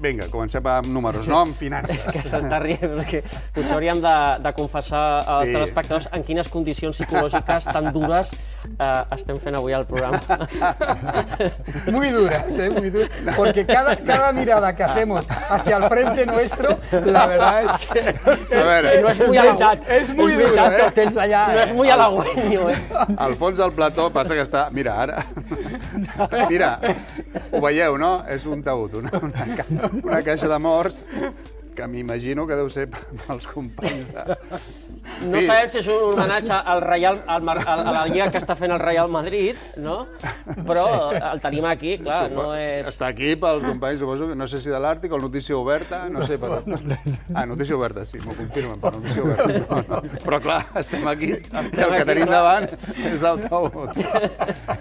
Vinga, comencem amb números, no amb finances. És que s'està rient, perquè potser hauríem de confessar als telespectadors en quines condicions psicològiques tan dures estem fent avui el programa. Muy duras, muy duras, porque cada mirada que hacemos hacia el frente nuestro, la verdad es que no és muy halagüeño. És muy dura, No és muy halagüeño, Al fons del plató passa que està... Mira, ara... Mira, ho veieu, no? És un taüt, una caixa de morts que m'imagino que deu ser pels companys de... No sabem si és un homenatge a la lliga que està fent el Real Madrid, no? Però el tenim aquí, clar, no és... Està aquí pels companys, suposo, no sé si de l'Àrtic o Notícia Oberta, no sé per on. Ah, Notícia Oberta, sí, m'ho confirmen, per Notícia Oberta. Però clar, estem aquí, i el que tenim davant és el taüt.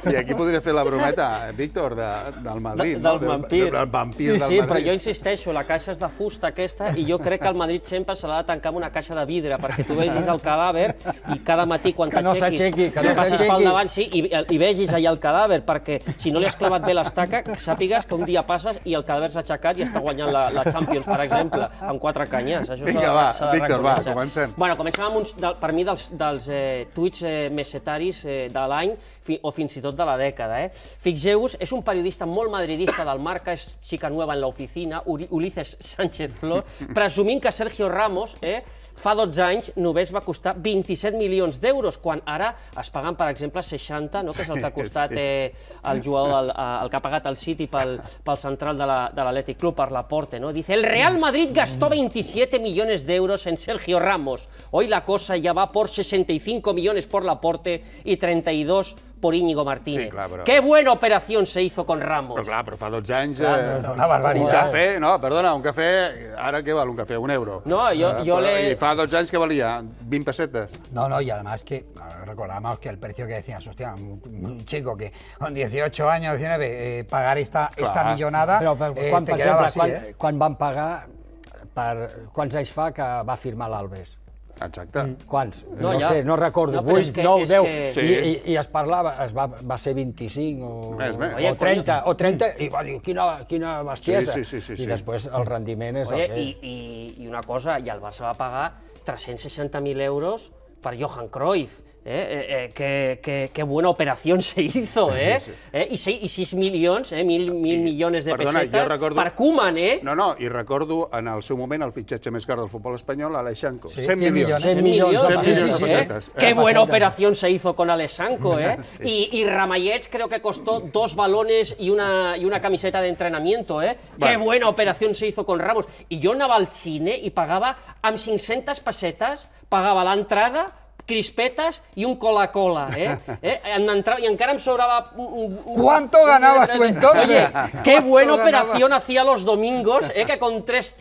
I aquí podria fer la brometa, Víctor, del Madrid, no? Del vampir. Del vampir del Madrid. Sí, però jo insisteixo, la caixa és de fusta aquesta, i jo crec que el Madrid sempre se l'ha de tancar amb una caixa de vidre, perquè tu vegis el cadàver i cada matí quan t'aixequis passis pel davant i vegis allà el cadàver, perquè si no li has clavat bé l'estaca, sàpigues que un dia passes i el cadàver s'ha aixecat i està guanyant la Champions, per exemple, amb 4 canyes. Vinga, va, Víctor, va, comencem. Bueno, comencem amb uns, per mi, dels tuits mesetaris de l'any o fins i tot de la dècada. Fixeu-vos, és un periodista molt madridista del Marca, és xica nueva en l'oficina, Ulises Sánchez Flor, presumint que Sergio Ramos fa 12 anys només va costar 27 milions d'euros, quan ara es paguen, per exemple, 60, que és el que ha costat el jugador, el que ha pagat el City pel central de l'Athletic Club, per Laporte. Dice, el Real Madrid gastó 27 millones de euros en Sergio Ramos. Hoy la cosa ya va por 65 millones por Laporte y 32 por Íñigo Martínez. Sí, clar, però... Qué buena operación se hizo con Ramos. Però clar, però fa 12 anys... Una barbaritat. Un cafè, no, perdona, un cafè... Ara què val un cafè? €1. No, yo le... I fa 12 anys que valia 20 pesetes. No, y además que recordamos que el precio que decías, hostia, un chico que con 18 años, 19, pagar esta millonada, te quedava així, Quan van pagar, quants anys fa que va firmar l'Alves? Exacte. Quants? No sé, no recordo. 8, 9, 10. I es parlava, va ser 25 o 30, i va dir, quina bestiesa. I després el rendiment és el que és. I una cosa, i el Barça va pagar 360.000 euros per Johan Cruyff. Qué buena operación se hizo, I 6 milions, 1.000 millones de pessetes per Koeman, No, i recordo en el seu moment el fitxatge més car del futbol espanyol, Alexanco. 100 milions de pessetes. Qué buena operación se hizo con Alexanco, Y Ramallets creo que costó 2 balones y una camiseta de entrenamiento, Qué buena operación se hizo con Ramos. I jo anava al cine i pagava amb 500 pessetes, pagava l'entrada, crispetas y un Coca-Cola, y encara em sobraba... ¿Cuánto ganabas tú entonces? Oye, qué buena operación hacía los domingos, que con 3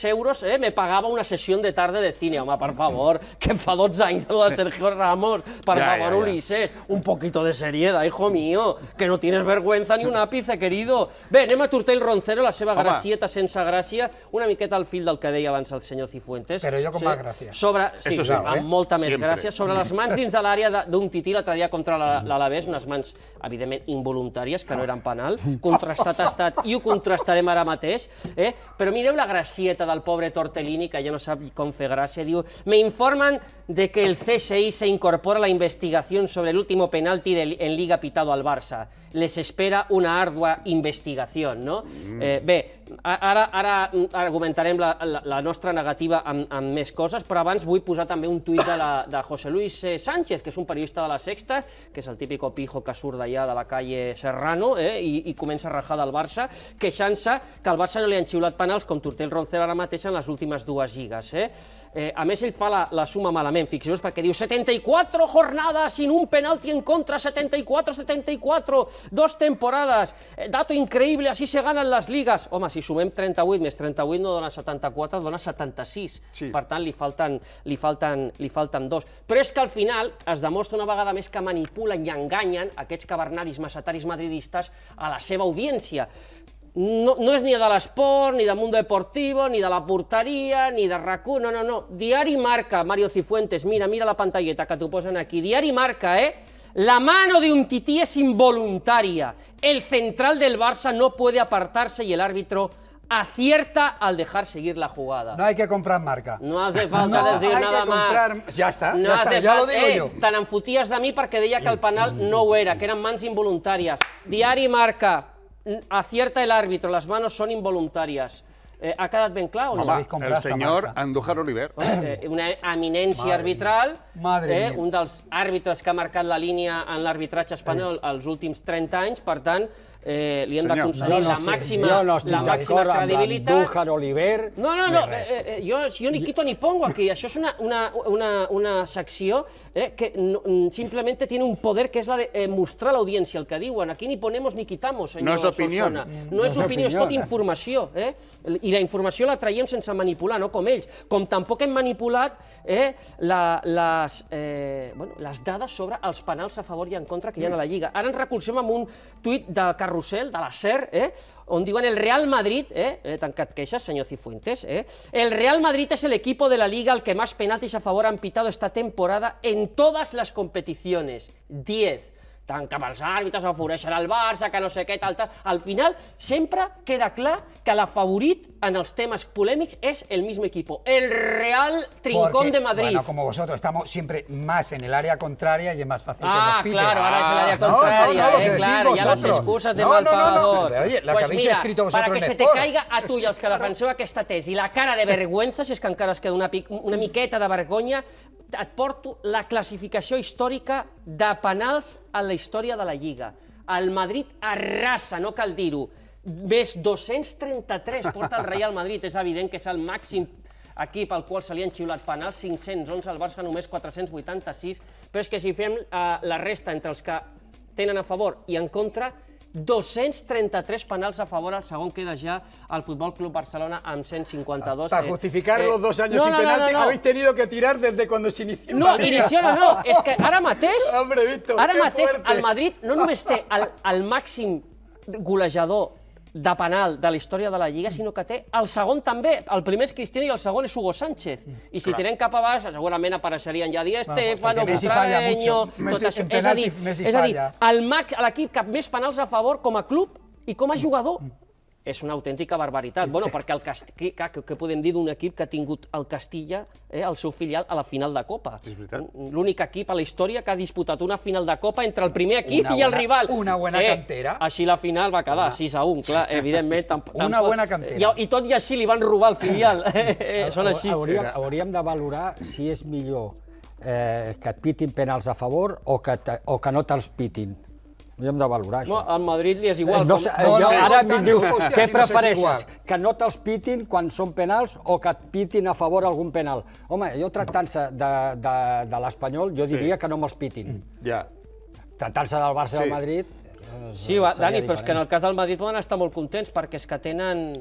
euros me pagaba una sesión de tarde de cine. Home, per favor, que fa 12 anys de Sergio Ramos, per favor, Ulises, un poquito de seriedad, hijo mío, que no tienes vergüenza ni un ápice, querido. Bé, anem a Tortell Roncero, la seva gracieta sense gràcia, una miqueta al fil del que deia abans el senyor Cifuentes. Però jo com va gràcia. Sí, amb molta més gràcia. Sobre les mans dins de l'àrea d'un tití l'altre dia contra l'Alavés, unes mans, evidentment, involuntàries, que no eren penal, contrastat ha estat i ho contrastarem ara mateix, però mireu la gracieta del pobre Tortellini, que ja no sap com fer gràcia, diu, me informan de que el CSI se incorpora a la investigación sobre el último penalti en Liga pitado al Barça. Les espera una ardua investigació, no? Bé, ara argumentarem la nostra negativa amb més coses, però abans vull posar també un tuit de José Luis Sánchez, que és un periodista de La Sexta, que és el típico pijo que surt d'allà de la calle Serrano i comença a rajar del Barça, queixant-se que al Barça no li han xiulat penals com Tortell Roncero ara mateix en les últimes 2 lligues. A més, ell fa la suma malament, fixeu-vos, perquè diu 74 jornadas sin un penalti en contra, 74, 2 temporadas, dato increíble, así se ganan las ligas. Home, si sumem 38 més 38 no dona 74, dona 76. Per tant, li falten 2. Però és que al final es demostra una vegada més que manipulen i enganyen aquests cavernaris macetaris madridistes a la seva audiència. No és ni de l'esport, ni del Mundo Deportivo, ni de la porteria, ni de RAC1, no. Diari Marca, Mario Cifuentes, mira la pantalleta que t'ho posen aquí. Diari Marca, la mano de Umtiti es involuntaria. El central del Barça no puede apartarse y el árbitro acierta al dejar seguir la jugada. No hay que comprar Marca. No hace falta decir nada más. Ya está, ya lo digo yo. Te'n enfoties de mi perquè deia que el penal no ho era, que eren mans involuntàries. Diari Marca, acierta el árbitro, las manos son involuntarias. ¿Ha quedat ben clar o no? El senyor Andújar Oliver. Una eminència arbitral, un dels àrbitres que ha marcat la línia en l'arbitratge espanyol els últims 30 anys, per tant, li hem de concedir la màxima credibilitat. Andújar Oliver... No, jo ni quito ni pongo aquí. Això és una secció que simplement tiene un poder que és la de mostrar a l'audiència el que diuen. Aquí ni ponemos ni quitamos, senyor Solsona. No és opinió, és tot informació. I la informació la traiem sense manipular, no com ells. Com tampoc hem manipulat les dades sobre els penals a favor i en contra que hi ha a la Lliga. Ara ens recolzem amb un tuit de Carrusel, de la SER, on diuen el Real Madrid, tancat queixes, senyor Cifuentes, el Real Madrid es el equipo de la Liga al que más penaltis a favor han pitado esta temporada en todas las competiciones. 10. Tant cap als àrbitres afavoreixen el Barça, que no sé què, tal. Al final, sempre queda clar que la favorit en els temes polèmics és el mismo equipo, el Real Trincón de Madrid. Bueno, como vosotros estamos siempre más en el área contraria y es más fácil que nos piten. Claro, ahora es el área contraria, claro, ya las excusas de mal pagador. Oye, la que habéis escrito vosotros en Para que se te caiga a tu i als que defenseu aquesta tesi la cara de vergüenza, si és que encara es queda una miqueta de vergonya, et porto la classificació històrica de penals en la història de la Lliga. El Madrid arrasa, no cal dir-ho, més 233 porta el Real Madrid. És evident que és el màxim equip al qual se li han xiulat penals, 511, el Barça només 486, però és que si fem la resta entre els que tenen a favor i en contra, 233 penals a favor, el segon queda ja el Futbol Club Barcelona amb 152. Para justificar los 2 años sin penalti, habéis tenido que tirar desde cuando se inició la Liga. Inició no, és que ara mateix el Madrid no només té el màxim golejador de penal de la història de la Lliga, sinó que té el segon també. El primer és Cristiano i el segon és Hugo Sánchez. I si tirem cap a baix, segurament apareixerien ja Di Stéfano, Butragueño... És a dir, l'equip que més penals a favor com a club i com a jugador és una autèntica barbaritat. Bueno, perquè què podem dir d'un equip que ha tingut el Castilla, el seu filial, a la final de Copa? L'únic equip a la història que ha disputat una final de Copa entre el primer equip i el rival. Una bona cantera. Així la final va quedar 6-1, clar, evidentment. Una bona cantera. I tot i així li van robar el filial. Són així. Hauríem de valorar si és millor que et pitin penals a favor o que no te'ls pitin. Hauríem de valorar això. Al Madrid li és igual. Ara em dius, què prefereixes? Que no te'ls pitin quan són penals o que et pitin a favor algun penal? Home, jo tractant-se de l'Espanyol, jo diria que no me'ls pitin. Ja. Tractant-se del Barça i del Madrid... Sí, Dani, però és que en el cas del Madrid poden estar molt contents perquè és que tenen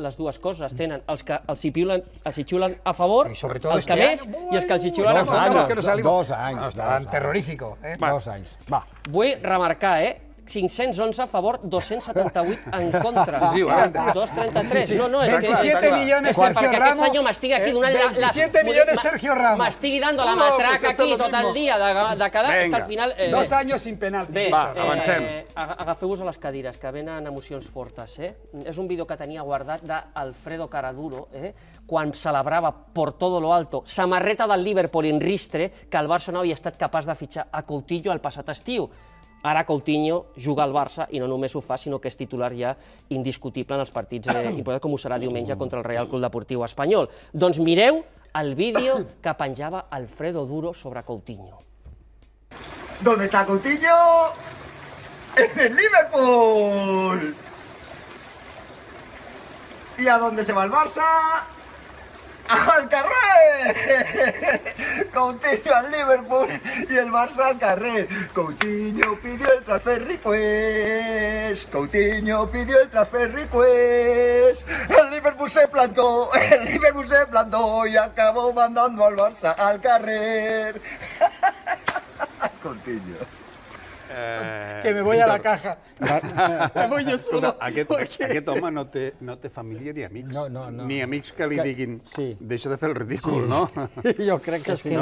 les dues coses. Tenen els que els hi xiulen a favor, els que més, i els que els hi xiulen a contra. 2 anys. Tan terrorífico. 2 anys. Va. Vull remarcar, 511 a favor, 278 en contra. 233. No, és que... 27 millones Sergio Ramos. Perquè aquest senyor m'estigui aquí donant la... 27 millones Sergio Ramos. M'estigui dando la matraca aquí tot el dia de quedar, és que al final... 2 anys sin penalti. Bé, avancem. Agafeu-vos a les cadires, que venen emocions fortes. És un vídeo que tenia guardat d'Alfredo Caraduro, quan celebrava por todo lo alto samarreta del Liverpool en ristre que el Barça no havia estat capaç de fitxar a Coutinho el passat estiu. Ara Coutinho juga al Barça i no només ho fa, sinó que és titular ja indiscutible en els partits importants, com ho serà diumenge contra el Real Club Deportiu Espanyol. Doncs mireu el vídeo que penjava Alfredo Duro sobre Coutinho. ¿Dónde está Coutinho? ¡En el Liverpool! ¿Y a dónde se va el Barça? ¡Al carrer! Coutinho al Liverpool y el Barça al carrer. Coutinho pidió el transfer request. Coutinho pidió el transfer request. El Liverpool se plantó y acabó mandando al Barça al carrer. Coutinho. Que me voy a la caja. Me voy jo solo. Aquest home no té família ni amics. Ni amics que li diguin deixa de fer el ridícul, ¿no? Jo crec que sí.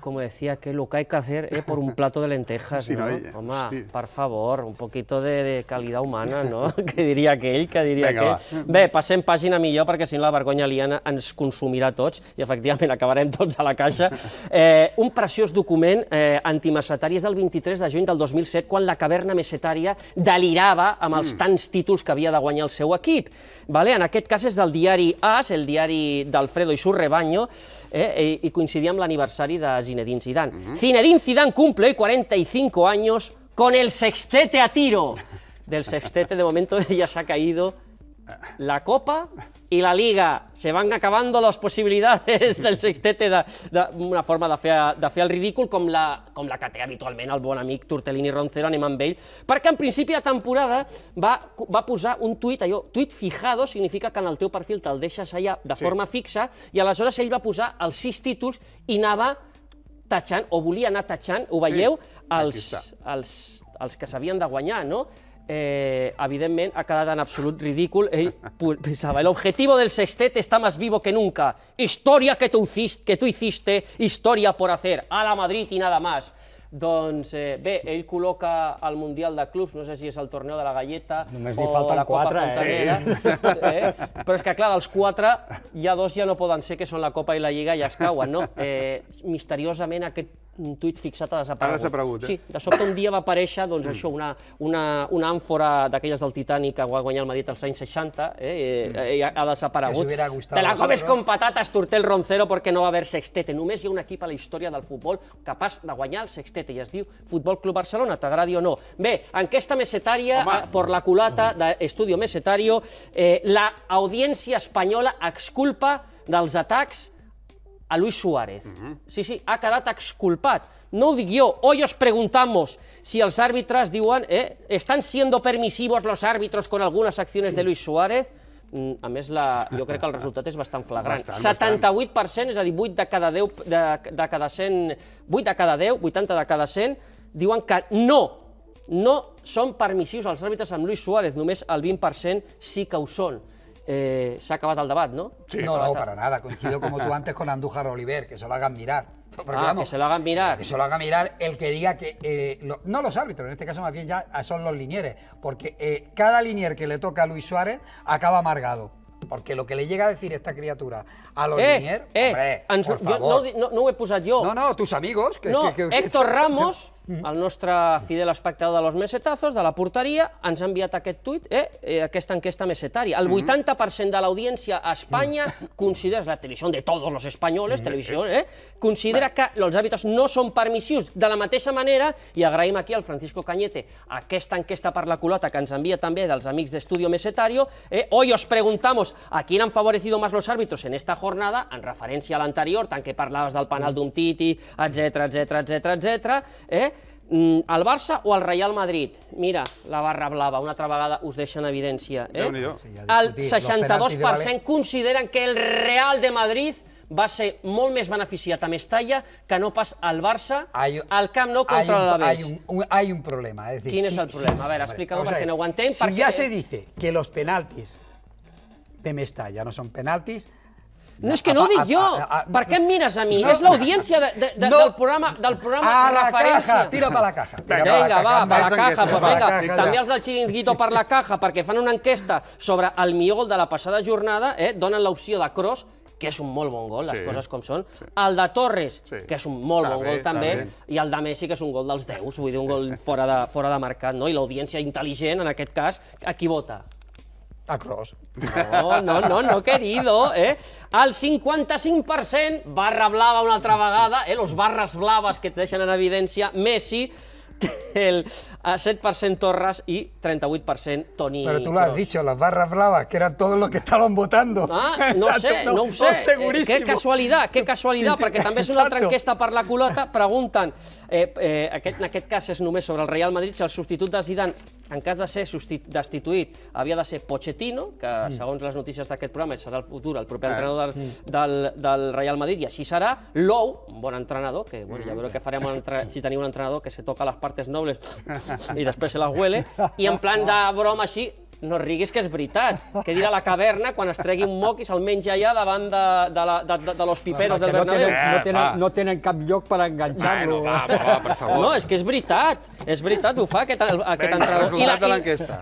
Como decía, que lo que hay que hacer es por un plato de lentejas, ¿no? Home, per favor, un poquito de calidad humana, ¿no? Que diria aquell, que diria aquell. Bé, passem pàgina millor, perquè si no la vergonya aliena ens consumirà tots i efectivament acabarem tots a la caixa. Un preciós document antimesetari és del 23 de juny del 2007, quan la caverna mesetària delirava amb els tants títols que havia de guanyar el seu equip. En aquest cas és del diari AS, el diari d'Alfredo y su rebaño, i coincidia amb l'aniversari de Zinedine Zidane. Zinedine Zidane cumple hoy 45 años con el sextete a tiro. Del sextete de momento ya se ha caído la Copa y la Liga. Se van acabando las posibilidades del sextete d'una forma de fer el ridícul com la que té habitualment el bon amic Tortellini Roncero, anem amb ell, perquè en principi de temporada va posar un tuit, tuit fijado significa que en el teu perfil te'l deixes allà de forma fixa, i aleshores ell va posar els 6 títols i anava tatxant, o volia anar tatxant, ho veieu, els que s'havien de guanyar, no? Evidentment ha quedat en absolut ridícul. Ell pensava, el objetivo del sextete está más vivo que nunca. Historia que tú hiciste, historia por hacer. A la Madrid y nada más. Doncs bé, ell col·loca el Mundial de Clubs, no sé si és el Torneo de la Galleta o la Copa Fontanera, però és que clar, dels 4 ja 2 ja no poden ser, que són la Copa i la Lliga, ja es cauen, no? Misteriosament aquest tuit fixat ha desaparegut. Sí, de sobte un dia va aparèixer, doncs això, una àmfora d'aquelles del Titanic que va guanyar el Madrid als anys 60, i ha desaparegut. Te la comes con patatas, Tortell Roncero, perquè no va haver sextete. Només hi ha un equip a la història del futbol capaç de guanyar el sextete, i es diu Futbol Club Barcelona, t'agradi o no. Bé, enquesta mesetària, por la culata d'Estudio Mesetario, la audiència espanyola exculpa dels atacs a Luis Suárez. Sí, ha quedat exculpat. No ho dic jo. Hoy os preguntamos si els àrbitres diuen ¿están siendo permisivos los árbitros con algunas acciones de Luis Suárez? A més, jo crec que el resultat és bastant flagrant. 78%, és a dir, 8 de cada 10, 80 de cada 100, diuen que no són permissius els àrbitres amb Luis Suárez, només el 20% sí que ho són. Se ha acabat el debat, ¿no? No, para nada. Coincido como tú antes con Andújar Oliver, que se lo hagan mirar. Que se lo hagan mirar. Que se lo haga mirar el que diga que... no los árbitros, en este caso más bien ya son los linieres, porque cada linier que le toca a Luis Suárez acaba amargado. Porque lo que le llega a decir esta criatura a los liniers... por favor. No ho he posat jo. No, tus amigos. No, Héctor Ramos, el nostre fidel espectador de los mesetazos, de la porteria, ens ha enviat aquest tuit, aquesta enquesta mesetària. El 80% de l'audiència a Espanya considera, la televisió de tots els espanyols, considera que els àrbitres no són permissius. De la mateixa manera, i agraïm aquí al Francisco Cañete aquesta enquesta per la culata que ens envia també dels amics d'Estudio Mesetario, hoy os preguntamos a quién han favorecido más los árbitros en esta jornada, en referència a l'anterior, tant que parlaves del penal d'Umtiti, etc. El Barça o el Real Madrid? Mira, la barra blava, una altra vegada us deixa en evidència. El 62% consideren que el Real de Madrid va ser molt més beneficiat a Mestalla que no pas al Barça al Camp Nou contra l'Alavés. Hay un problema. ¿Quién es el problema? A ver, explícalo perquè no ho entenc. Si ya se dice que los penaltis de Mestalla no son penaltis... No, és que no ho dic jo. Per què em mires a mi? És l'audiència del programa referència. Tira per la caja. Vinga, va, per la caja. També els del Chiringuito per la caja, perquè fan una enquesta sobre el millor gol de la passada jornada, donen l'opció de Kroos, que és un molt bon gol, les coses com són, el de Torres, que és un molt bon gol també, i el de Messi, que és un gol dels 10, vull dir, un gol fora de mercat, i l'audiència intel·ligent, en aquest cas, a qui vota? A Kroos. No, querido. El 55%, barra blava una altra vegada, los barres blaves que et deixen en evidència, Messi, el 7% Torres y 38% Toni Kroos. Pero tú lo has dicho, las barras blavas, que eran todos los que estaban votando. No ho sé. Seguríssim. Que casualitat, perquè també és una altra enquesta per la culata, pregunten, en aquest cas és només sobre el Real Madrid, si el substitut de Zidane, en cas de ser destituït, havia de ser Pochettino, que segons les notícies d'aquest programa serà el futur, el proper entrenador del Real Madrid, i així serà. Lou, un bon entrenador, que ja veureu què farem si tenim un entrenador que se toca les partes nobles i després se les huele, i en plan de broma així, no riguis que és veritat, que dirà la caverna quan es tregui un moc i se'l menja allà davant de los piperos del Bernabéu. No tenen cap lloc per enganxar-lo. Per favor. No, és que és veritat, ho fa aquest entrenador.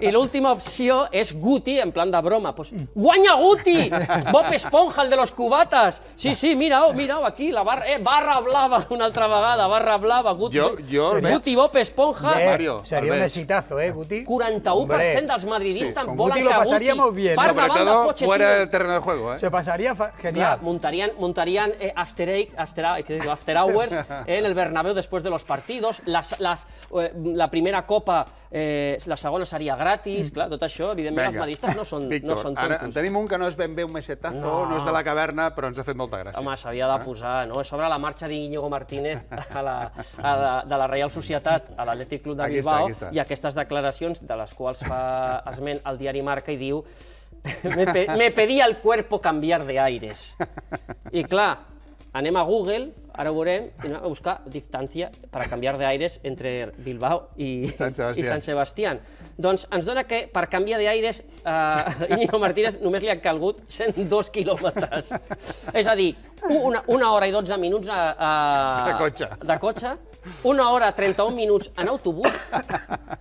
I l'última opció és Guti, en plan de broma. Guanya Guti! Bob Esponja, el de los cubatas! Sí, mira-ho, aquí, la barra blava una altra vegada, barra blava, Guti, Bob Esponja. Sería un exitazo, Guti. 41% dels madridistes con Guti lo pasaría muy bien. Sobre todo fuera del terreno de juego. Se pasaría genial. Montarían after hours en el Bernabéu después de los partidos. La primera copa, la segona seria gratis. Clar, tot això, evidentment, els madridistes no són tontos. Ara en tenim un que no és ben bé un mesetazo, no és de la caverna, però ens ha fet molta gràcia. Home, s'havia de posar, no? Sobre la marxa d'Iñigo Martínez de la Reial Societat a l'Atlètic Club de Bilbao i aquestes declaracions de les quals fa esment al diari Marca i diu me pedía el cuerpo cambiar de aires. I clar, anem a Google, ara ho veurem, i anem a buscar distància per canviar d'aires entre Bilbao i Sant Sebastián. Doncs ens dona que per canviar d'aires Íñigo Martínez només li han calgut 102 quilòmetres. És a dir, 1 hora i 12 minuts de cotxe, 1 hora 31 minuts en autobús,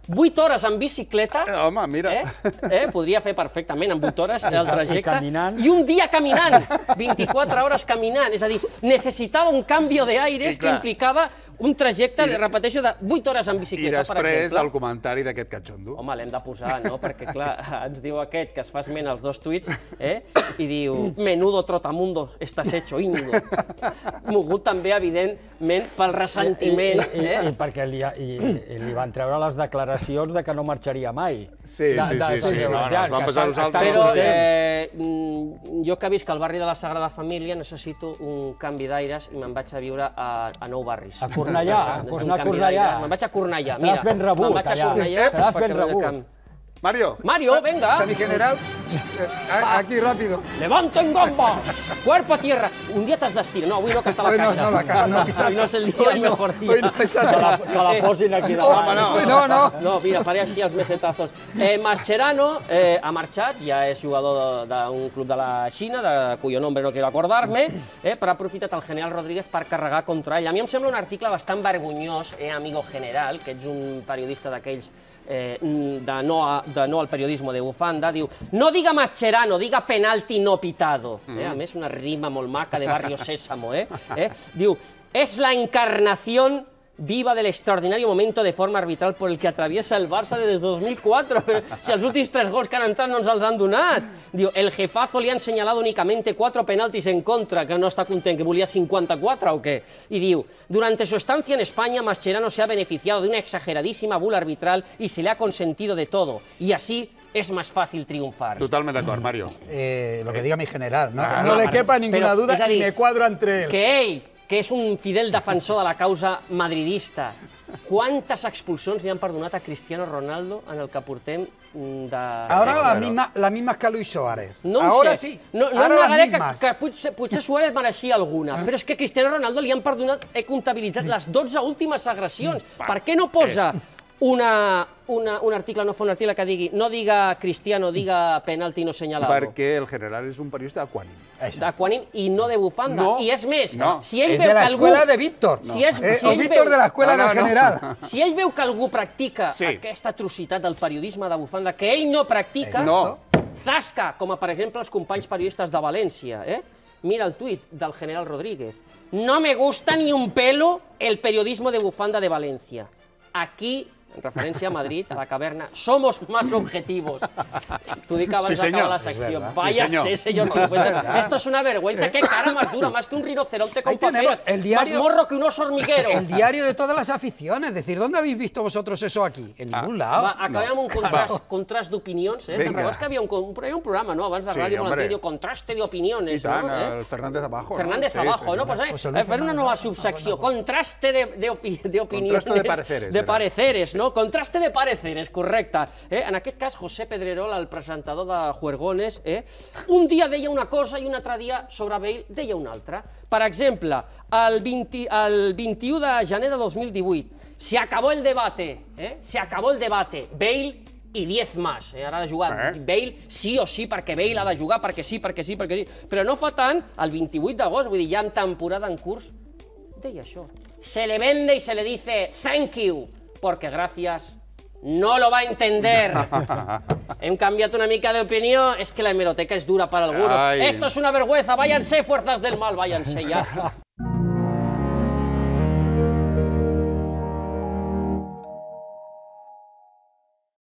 8 hores en bicicleta. Home, mira. Podria fer perfectament en 8 hores el trajecte. I un dia caminant, 24 hores caminant. És a dir, necessitava un canvi d'aires que implicava un trajecte, repeteixo, de 8 hores en bicicleta, per exemple. I després el comentari d'aquest catxondo. Home, l'hem de posar, no? Perquè, clar, ens diu aquest que es fa esment als 2 tuits i diu, menudo trotamundo estàs hecho, Íñigo. Mogut també, evidentment, pel ressentiment. I perquè li van treure les declaracions de que no marxaria mai. Sí, ens van passar nosaltres. Però jo que visc al barri de la Sagrada Família necessito un canvi d'aires i me'n vaig a viure a Nou Barris. A Cornellà, pots anar a Cornellà. Me'n vaig a Cornellà, mira. Estaràs ben rebut, allà. Estaràs ben rebut. Mario, venga. Mi general, aquí rápido. Levanto en gambas, cuerpo a tierra. Un día t'has d'estirar. No, avui no, que està a la caixa. No, la caja, no és el dia, el mejor dia. Que la posin aquí davant. No, mira, faré així els mesetazos. Mascherano ha marxat, ja és jugador d'un club de la Xina, de cuyo nombre no quiero acordarme, però ha aprofitat el general Rodríguez per carregar contra ell. A mi em sembla un article bastant vergonyós, amigo general, que ets un periodista d'aquells de no al periodismo de bufanda, diu, no diga Mascherano, diga penalti no pitado. A més, una rima molt maca de Barrio Sésamo. Diu, es la encarnación viva del extraordinario momento de forma arbitral por el que atraviesa el Barça desde 2004. Si els últims 3 gols que han entrat no ens els han donat. Diu, el jefazo le han señalado únicamente 4 penaltis en contra, que no está content, que volia 54 o qué. Y diu, durante su estancia en España, Mascherano se ha beneficiado de una exageradísima bula arbitral y se le ha consentido de todo. Y así es más fácil triunfar. Totalment d'acord, Mario. Lo que diga mi general. No le quepa ninguna duda y me cuadro entre él. Que ell, que és un fidel defensor de la causa madridista, quantes expulsions li han perdonat a Cristiano Ronaldo en el que portem de... Ahora las mismas que a Luis Suárez. No Ahora sé. sí. No negaré que potser Suárez mereixia alguna, però és que a Cristiano Ronaldo li han perdonat, he comptabilitzat les 12 últimes agressions. Per què no posa un article, no fa un article que digui no diga Cristiano, diga penalti no señalado? Perquè el general és un periodista d'Aquànim. D'Aquànim i no de bufanda. I és més, si ell és veu de que algú... l'escola de Víctor. Víctor de l'escola del general. Si ell veu que algú practica aquesta atrocitat del periodisme de bufanda, que ell no practica, zasca, com per exemple els companys periodistes de València, mira el tuit del general Rodríguez. No me gusta ni un pelo el periodismo de bufanda de Valencia. Aquí, en referència a Madrid, a la caverna, somos más objetivos. T'ho dic abans d'acabar la secció. Vaya sé, señor Cifuentes. Esto es una vergüenza. Qué cara más dura, más que un rinoceronte con papeles. Más morro que un oso hormiguero. El diario de todas las aficiones. Es decir, ¿dónde habéis visto vosotros eso aquí? En ningún lado. Acabem amb un contrast d'opinions. Te'n recordes que havia un programa, no? Abans de ràdio molt antic, contraste de opiniones. I tant, el Fernández Abajo. Fernández Abajo, no? Pues fer una nova subsecció. Contraste de opiniones. Contraste de pareceres. De pareceres, no? no? Contraste de pareceres, correcte. En aquest cas, José Pedrerol, el presentador de Juergones, un dia deia una cosa i un altre dia sobre Bale deia una altra. Per exemple, el 21 de gener de 2018, se acabó el debate, Bale i 10 más. Ara ha de jugar Bale sí o sí, perquè Bale ha de jugar, perquè sí. Però no fa tant, el 28 d'agost, vull dir, ja en temporada en curs, deia això. Se le vende y se le dice thank you, porque gracias no lo va a entender. Hem canviat una mica d'opinió, és que la hemeroteca és dura para algunos. Esto es una vergüenza, váyanse, fuerzas del mal, váyanse ya.